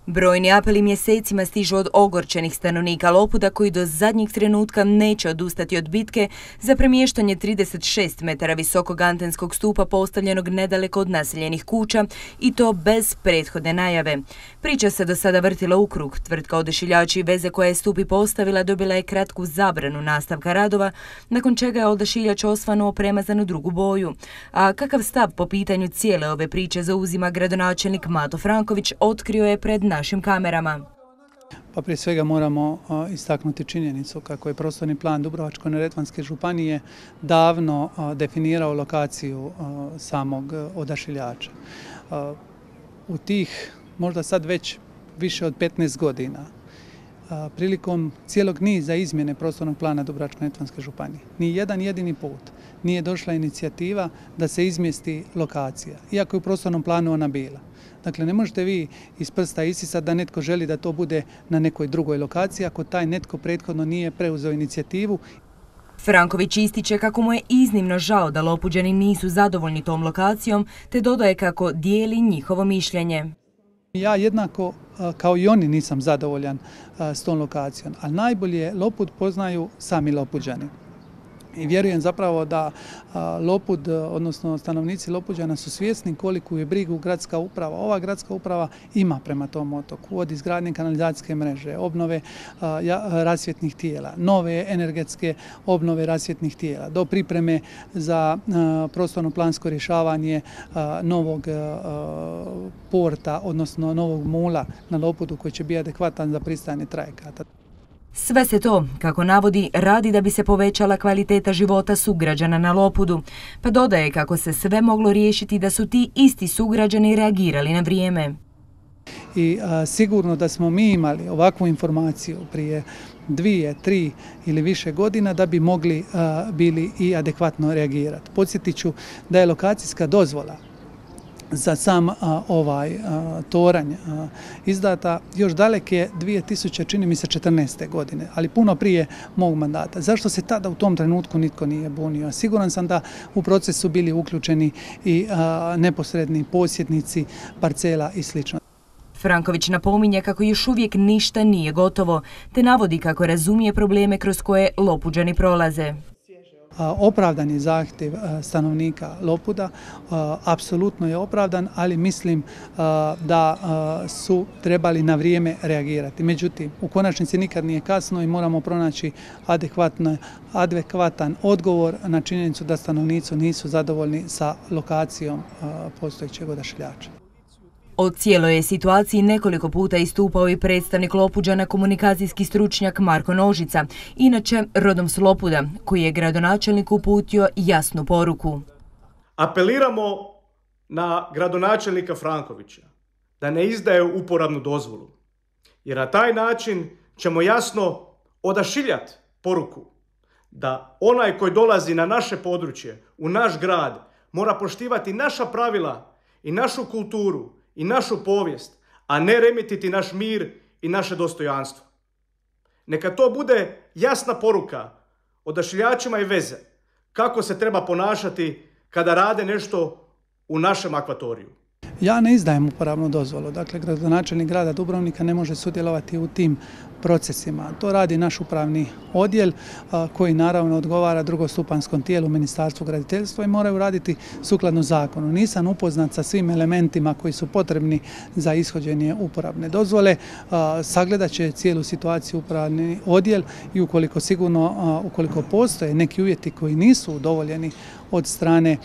Brojni apeli mjesecima stižu od ogorčenih stanovnika Lopuda koji do zadnjeg trenutka neće odustati od bitke za premještanje 36 metara visokog antenskog stupa postavljenog nedaleko od naseljenih kuća i to bez prethodne najave. Priča se do sada vrtila u krug. Tvrtka Odašiljači i veze koja je stup i postavila dobila je kratku zabranu nastavka radova, nakon čega je Odašiljač osvanuo premazan u drugu boju. A kakav stav po pitanju cijele ove priče zauzima gradonačelnik Mato Franković otkrio je pred našim kamerama. Pa prije svega moramo istaknuti činjenicu kako je prostorni plan Dubrovačko-neretvanske županije davno definirao lokaciju samog Odašiljača. U tih možda sad već više od 15 godina prilikom cijelog niza izmjene prostornog plana Dubrovačko-neretvanske županije ni jedan jedini put nije došla inicijativa da se izmjesti lokacija, iako je u prostornom planu ona bila. Dakle, ne možete vi iz prsta isisati da netko želi da to bude na nekoj drugoj lokaciji ako taj netko prethodno nije preuzeo inicijativu. Franković ističe kako mu je iznimno žao da Lopuđani nisu zadovoljni tom lokacijom, te dodaje kako dijeli njihovo mišljenje. Ja jednako kao i oni nisam zadovoljan s tom lokacijom, ali najbolje Lopud poznaju sami Lopuđani. I vjerujem zapravo da Lopud, odnosno stanovnici Lopuđana su svjesni koliku je brigu gradska uprava. Ova gradska uprava ima prema tom otoku, od izgradnje kanalizacijske mreže, obnove rasvjetnih tijela, nove energetske obnove rasvjetnih tijela, do pripreme za prostorno-plansko rješavanje novog porta, odnosno novog mula na Lopudu koji će biti adekvatan za pristajanje trajekata. Sve se to, kako navodi, radi da bi se povećala kvaliteta života sugrađana na Lopudu, pa dodaje kako se sve moglo riješiti da su ti isti sugrađani reagirali na vrijeme. I sigurno da smo mi imali ovakvu informaciju prije 2, 3 ili više godina da bi mogli bili i adekvatno reagirati. Podsjetit ću da je lokacijska dozvola za sam ovaj toranj izdata još daleke 2014. godine, ali puno prije mog mandata. Zašto se tada u tom trenutku nitko nije bunio? Siguran sam da u procesu bili uključeni i neposredni posjednici parcela i sl. Franković napominje kako još uvijek ništa nije gotovo, te navodi kako razumije probleme kroz koje Lopuđani prolaze. Opravdan je zahtjev stanovnika Lopuda, apsolutno je opravdan, ali mislim da su trebali na vrijeme reagirati. Međutim, u konačnici nikad nije kasno i moramo pronaći adekvatan odgovor na činjenicu da stanovnici nisu zadovoljni sa lokacijom postojećeg Odašiljača. O cijeloj je situaciji nekoliko puta istupao i predstavnik Lopuđana, komunikacijski stručnjak Marko Nožica, inače rodom s Lopuda, koji je gradonačelniku uputio jasnu poruku. Apeliramo na gradonačelnika Frankovića da ne izdaje uporabnu dozvolu, jer na taj način ćemo jasno odašiljati poruku da onaj koji dolazi na naše područje, u naš grad, mora poštivati naša pravila i našu kulturu i našu povijest, a ne remetiti naš mir i naše dostojanstvo. Neka to bude jasna poruka odašiljačima i veze kako se treba ponašati kada rade nešto u našem akvatoriju. Ja ne izdajem uporabnu dozvolu, dakle gradonačelnik grada Dubrovnika ne može sudjelovati u tim procesima. To radi naš upravni odjel koji naravno odgovara drugostupanskom tijelu Ministarstvu graditeljstva i moraju raditi sukladno zakonu. Nisam upoznat sa svim elementima koji su potrebni za ishođenje uporabne dozvole. Sagledat će cijelu situaciju upravni odjel i ukoliko postoje neki uvjeti koji nisu udovoljeni od strane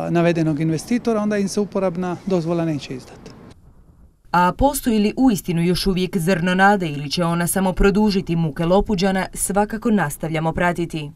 navedenog investitora, onda im se uporabna dozvola neće izdati. A postoji li uistinu još uvijek zrno nade ili će ona samo produžiti muke Lopuđana, svakako nastavljamo pratiti.